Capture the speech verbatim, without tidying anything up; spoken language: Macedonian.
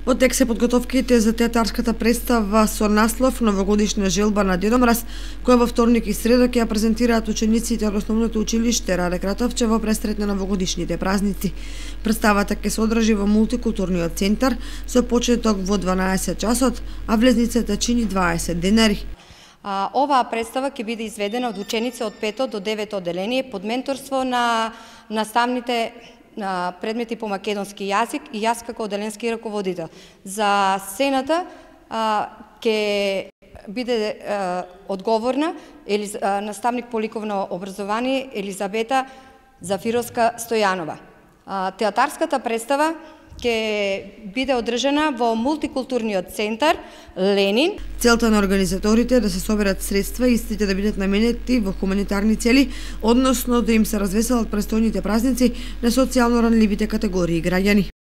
Во тек се подготовките за театарската представа со наслов Новогодишна желба на Дедо Мраз, која во вторник и среда ќе ја презентираат учениците од Основното училиште Раде Кратовче во пресрет на новогодишните празници. Представата ќе се одржи во мултикултурниот центар со почеток во дванаесет часот, а влезницата чини дваесет денари. А, оваа представа ќе биде изведена од ученици од пето до девето одделение под менторство на наставните на предмети по македонски јазик и јас како одделенски раководител. За сцената а, ќе биде а, одговорна Елиз, а, наставник по ликовно образование Елизабета Зафировска Стојанова. А, театарската представа ќе биде одржана во мултикултурниот центар Ленин. Целта на организаторите е да се соберат средства и истите да бидат наменети во хуманитарни цели, односно да им се развеселат престојните празници на социјално ранливите категории граѓани.